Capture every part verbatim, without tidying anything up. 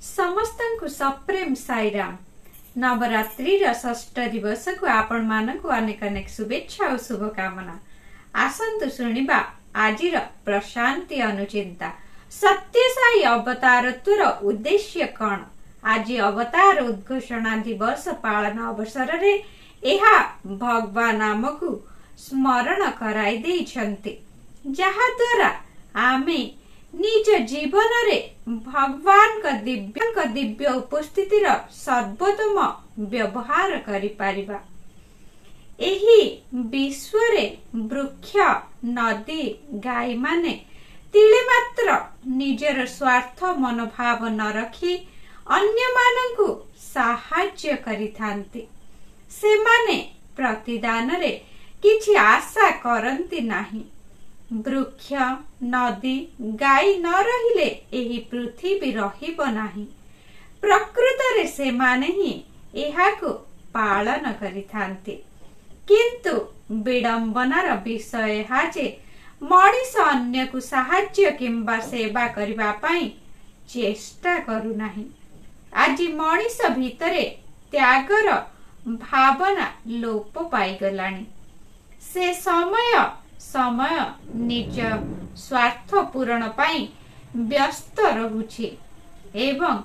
ସମସ୍ତଙ୍କୁ ସପ୍ରେମ ସାଇରାମ। ନବରାତ୍ରିର ଷଷ୍ଠ ଦିବସକୁ ଆପଣମାନଙ୍କୁ ଅନେକ ଅନେକ ଶୁଭେଚ୍ଛା ଓ ଶୁଭକାମନା। ଆସନ୍ତୁ ଶୁଣିବା ଆଜିର ପ୍ରଶାନ୍ତି ଅନୁଚିନ୍ତା। ସତ୍ୟସାଇ ଅବତାରତ୍ୱର ଉଦ୍ଦେଶ୍ୟ କଣ? ଆଜି ଅବତାର ଉଦ୍ଘୋଷଣା ଦିବସ ପାଳନ ଅବସରରେ ଏହା ଭଗବାନ ଆମକୁ ସ୍ମରଣ କରାଇ ଦେଇଛନ୍ତି, ଯାହାଦ୍ୱାରା ଆମେ ନିଜ ଜୀବନରେ ଭଗବାନଙ୍କ ଦିବ୍ୟଙ୍କ ଦିବ୍ୟ ଉପସ୍ଥିତିର ସର୍ବୋତ୍ତମ ବ୍ୟବହାର କରିପାରିବା। ଏହି ବିଶ୍ୱରେ ବୃକ୍ଷ, ନଦୀ, ଗାଈମାନେ ତିଳେ ମାତ୍ର ନିଜର ସ୍ୱାର୍ଥ ମନୋଭାବ ନ ରଖି ଅନ୍ୟମାନଙ୍କୁ ସାହାଯ୍ୟ କରିଥାନ୍ତି। ସେମାନେ ପ୍ରତିଦାନରେ କିଛି ଆଶା କରନ୍ତି ନାହିଁ। ବୃକ୍ଷ, ନଦୀ, ଗାଈ ନ ରହିଲେ ଏହି ପୃଥିବୀ ରହିବ ନାହିଁ। ପ୍ରକୃତରେ ସେମାନେ ହିଁ ଏହାକୁ ପାଳନ କରିଥାନ୍ତି। କିନ୍ତୁ ବିଡ଼ମ୍ବନାର ବିଷୟ ଏହା ଯେ ମଣିଷ ଅନ୍ୟକୁ ସାହାଯ୍ୟ କିମ୍ବା ସେବା କରିବା ପାଇଁ ଚେଷ୍ଟା କରୁନାହିଁ। ଆଜି ମଣିଷ ଭିତରେ ତ୍ୟାଗର ଭାବନା ଲୋପ ପାଇଗଲାଣି। ସେ ସମୟ ସମୟ ନିଜ ସ୍ୱାର୍ଥ ପୂରଣ ପାଇଁ ବ୍ୟସ୍ତ ରହୁଛି ଏବଂ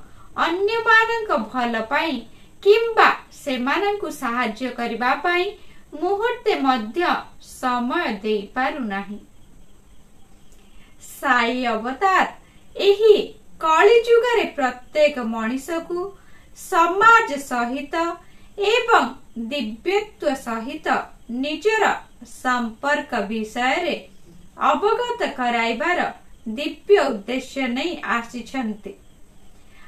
ଅନ୍ୟମାନଙ୍କ ଭଲ ପାଇଁ କିମ୍ବା ସେମାନଙ୍କୁ ସାହାଯ୍ୟ କରିବା ପାଇଁ ମୁହୂର୍ତ୍ତେ ମଧ୍ୟ ସମୟ ଦେଇପାରୁନାହିଁ। ସାଇ ଅବତାର ଏହି କଳିଯୁଗରେ ପ୍ରତ୍ୟେକ ମଣିଷକୁ ସମାଜ ସହିତ ଏବଂ ଦିବ୍ୟତ୍ୱ ସହିତ ନିଜର ସମ୍ପର୍କ ବିଷୟରେ ଅବଗତ କରାଇବାର ଦିବ୍ୟ ଉଦ୍ଦେଶ୍ୟ ନେଇ ଆସିଛନ୍ତି।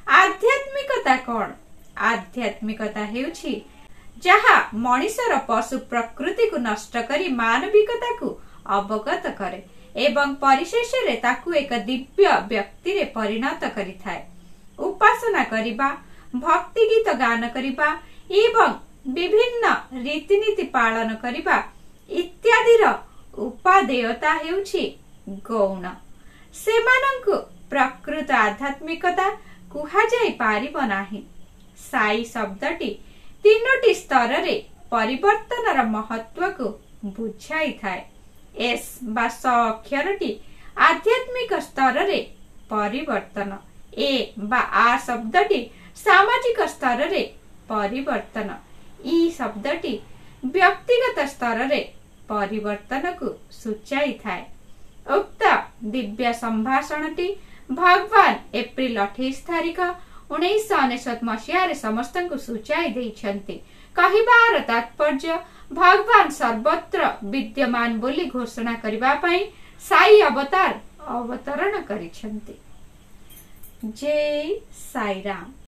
ଆଧ୍ୟାତ୍ମିକତା କଣ? ଆଧ୍ୟାତ୍ମିକତା ହେଉଛି ଯାହା ମଣିଷର ପଶୁ ପ୍ରକୃତିକୁ ନଷ୍ଟ କରି ମାନବିକତାକୁ ଅବଗତ କରେ ଏବଂ ପରିଶେଷରେ ତାକୁ ଏକ ଦିବ୍ୟ ବ୍ୟକ୍ତିରେ ପରିଣତ କରିଥାଏ। ଉପାସନା କରିବା, ଭକ୍ତି ଗୀତ ଗାନ କରିବା ଏବଂ ବିଭିନ୍ନ ରୀତିନୀତି ପାଳନ କରିବା ଇତ୍ୟାଦିର ଉପାଦେୟତା ହେଉଛି ଗୌଣ। ସେମାନଙ୍କୁ ପ୍ରକୃତ ଆଧ୍ୟାତ୍ମିକତା କୁହାଯାଇ ପାରିବ ନାହିଁ। ସାଇ ଶବ୍ଦଟି ତିନୋଟି ସ୍ତରରେ ପରିବର୍ତ୍ତନର ମହତ୍ଵକୁ ବୁଝାଇଥାଏ। ଏସ୍ ବା ସ ଅକ୍ଷରଟି ଆଧ୍ୟାତ୍ମିକ ସ୍ତରରେ ପରିବର୍ତ୍ତନ, ଏ ବା ଆ ଶବ୍ଦଟି ସାମାଜିକ ସ୍ତରରେ ପରିବର୍ତ୍ତନ, ଇ ଶବ୍ଦଟି ବ୍ୟକ୍ତିଗତ ସ୍ତରରେ ପରିବର୍ତ୍ତନକୁ ସୂଚାଇଥାଏ। ଉକ୍ତ ଦିବ୍ୟ ସମ୍ଭାଷଣଟି ଭଗବାନ ଏପ୍ରିଲ ଅଠେଇଶ ତାରିଖ ଉଣେଇଶହ ଅନେଶତ ମସିହାରେ ସମସ୍ତଙ୍କୁ ସୂଚାଇ ଦେଇଛନ୍ତି। କହିବାର ତାତ୍ପର୍ଯ୍ୟ, ଭଗବାନ ସର୍ବତ୍ର ବିଦ୍ୟମାନ ବୋଲି ଘୋଷଣା କରିବା ପାଇଁ ସାଇ ଅବତାର ଅବତରଣ କରିଛନ୍ତି। ଜୟ ସାଇରାମ।